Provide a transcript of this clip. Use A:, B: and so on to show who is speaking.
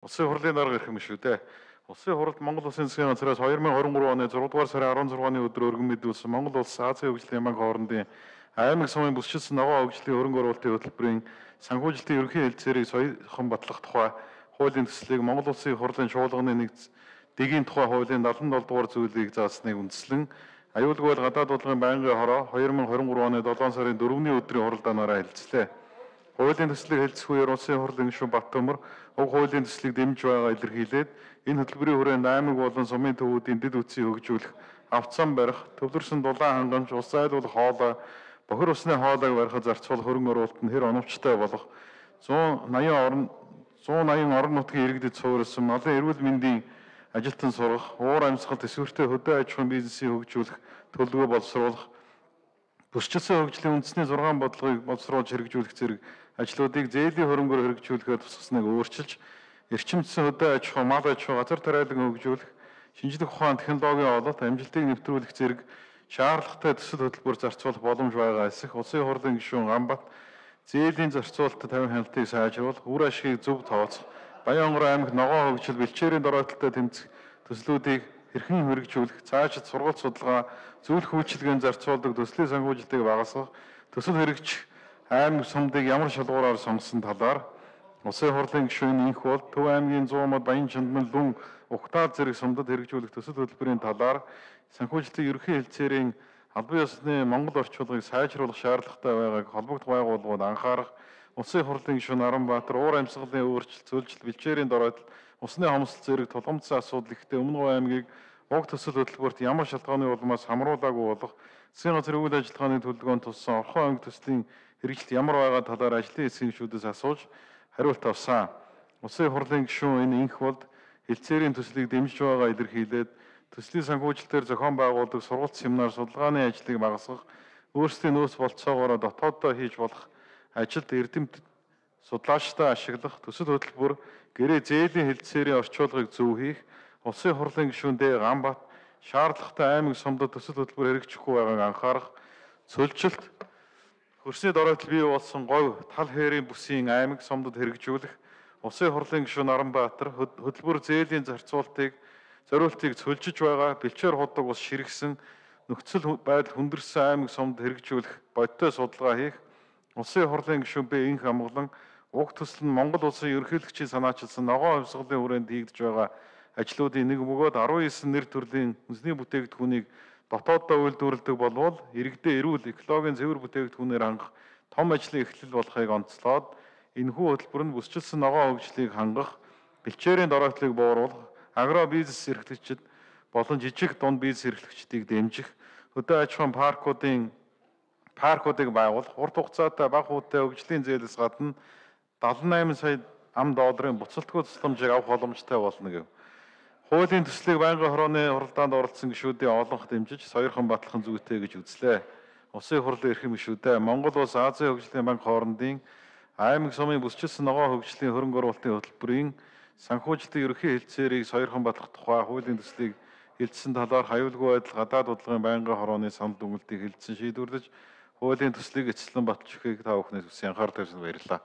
A: Улсын хурлын дарга ирэх юм шүү дээ. Улсын хуралд Монгол Улсын засгийн газраас 2023 оны 6 дугаар сарын 16-ны өдөр өргөн мэдүүлсэн Монгол Улс Азийн хөгжлийн банк хоорондын аймаг сумын бүсчилсэн ногоо хөгжлийн хөрөнгө оруулалтын хөтөлбөрийн санхүүжилтийн ерөнхий хэлтсээрийг соёлхон батлах тухай хуулийн төслийг Монгол Улсын хурлын чуулганы дэгийн тухай хуулийн 77 дугаар зүйлийг заасныг үндэслэн аюулгүй гадаад бодлогын байнгын хороо 2023 оны 7 сарын 4-ний өдрийн хуралдаанаараа хэлцлээ. Хуулийн төслийг хэлцэх үеэр Улсын хурлын гишүүн Баттөмөр уг хуулийн төслийг дэмжиж байгаа илэрхийлээд энэ хөтөлбөрийн хүрээнд аймаг болон сумын төвүүдийн дэд үтсийг хөгжүүлэх, авцсан барих, төвлөрсөн дулаан хангамж, ус айлуулах хоолой, бохир усны хоолойг барихад зарцуулах хөрөнгө оруулалт нь хэр оновчтой болох 180 орон нутгийн иргэдэд суурилсан малын эрүүл мэндийн ажилтан сургах, уур амьсгал төсвөртэй хөдөө аж ахуйн бизнесийг хөгжүүлэх төлөвлөгөө боловсруулах, бүсчилсэн хөгжлийн үндэсний 6 бодлогыг боловсруулж хэрэгжүүлэх зэрэг ажлуудыг зээлийн хөрөнгөөр хэрэгжүүлэхээр тусгасныг өөрчилж, эрчимжсэн хөдөө аж ахуй, мал аж ахуй, газар тариалан хөгжүүлэх, шинжлэх ухаан, технологийн ололт, амжилтыг нэвтрүүлэх зэрэг шаардлагатай төсөл хөтөлбөр зарцуулах боломж байгаа эсэх Улсын хурлын гишүүн Ганбат зээлийн зарцуулалтад 50 хяналтыг сайжруулах, үр ашгийг зөв тооцох, Баянгор аймаг ногоо хөгжил бэлчээрийн доройтолтой тэмцэх төслүүдийг хэрхэн хэрэгжүүлэх, цаашид сургалт судалгаа, зөвлөх үйлчилгээнд зарцуулдаг төслийн санхүүжилтийг багасгах, төсөл хэрэгжих аймаг сумдыг ямар шалгуураар сонгосон талаар Улсын хурлын гишүүн инх бол Төв аймгийн 100 мод Баян Чандман Лүн Угтаад зэрэг сумдад хэрэгжүүлэх төсөл хөтөлбөрийн талаар санхүүжилтийн ерөнхий хэлтсээрийн албан ёсны Монгол орчуулгыг сайжруулах шаардлагатай байгааг холбогд байгууллагууд анхаарах, Улсын хурлын гишүүн Аранбаатар уур амьсгалын өөрчлөлт, цөлжилт, бэлчээрийн доройтол, усны хомсдол зэрэг тулгамдсан асуудал ихтэй Өмнөг аймгийг уг төсөл хөтөлбөрт ямар шалтгааны улмаас хамруулаагүй болох засгийн газрын үйл ажиллагааны төлөвлөгөөнд туссан Орхон аймаг төслийн хэрэгжилт ямар байгаа талаар ажлын эсгэгчүүдээс асууж хариулт авсан. Улсын хурлын гишүүн энэ инх болд хэлтсээрийн төслийг дэмжиж байгаа илэрхийлээд төслийн санхүүжилтээр зохион байгуулдаг сургалт семинар судалгааны ажлыг багасгах, өөрсдийн нөөц болцоогоор дотооддоо хийж болох ажилд эрдэмт судлаачдаа ашиглах, төсөл хөтөлбөр гэрээ зээлийн хэлтсээрийн орчуулгыг зөв хийх, Улсын хурлын гишүүн Д. Ганбат шаардлагатай аймаг сумдад төсөл хөтөлбөр хэрэгжихгүй байгааг анхаарах, цөлжилт хөрсний доройтол бий болсон говь тал хээрийн бүсийн аймаг сумдад хэрэгжүүлэх, Улсын хурлын гишүүн Наранбаатар хөтөлбөр зээлийн зориултыг цөлжиж байгаа бэлчээр худаг ус ширгсэн нөхцөл байдал хүндэрсэн аймаг сумд хэрэгжүүлэх бодиттой судалгаа хийх, Улсын хурлын гишүүн Б. Инх амглан уг төсөл нь Монгол улсын ерөнхийлөгчийн санаачилсан ногоо хувьсгалын хүрээнд хийгдэж байгаа ажлуудын нэг бөгөөд 19 нэр төрлийн үндэсний бүтээгдэхүүнийг дотооддоо үйлдвэрлэдэг болвол иргэдээ эрүүл экологийн цэвэр бүтээгдэхүүнээр хангах том ажлын эхлэл болохыг онцлоод энэхүү хөтөлбөр нь бүсчилсэн ногоо хөгжлийг хангах, бэлчээрийн доройтлыг бууруулах, агро бизнес эрхлэгчид болон жижиг дунд бизнес эрхлэгчдийг дэмжих, хөдөө аж ахуйн паркуудыг байгуулах, урт хугацаатай бага хүүтэй хөгжлийн зээлээс гадна 78 сая $, буцалтгүй тусламжийг авах боломжтой болно гэв. Хуулийн төслийг байнгын хорооны хуралдаанд оролцсон гишүүдийн олонх дэмжиж сойрхон батлах зүйтэй гэж үзлээ. Улсын хурлын эрхэм гишүүдээ Монгол Улс Азийн хөгжлийн банк хоорондын аймаг сумын бүсчилсэн ногоо хөгжлийн хөрөнгө оруулалтын хөтөлбөрийн санхүүжилтийн ерөнхий хэлтсээрийг сойрхон батлах тухай хуулийн төслийг хэлтсэн талаар аюулгүй байдал гадаад бодлогын байнгын хорооны санал дүгнэлтийг хэлтсэн шийдвэрлэж хуулийн төслийг эцэслэн баталж өгөхийг та бүхнээс хүсэн анхаарал тавьсан баярлалаа.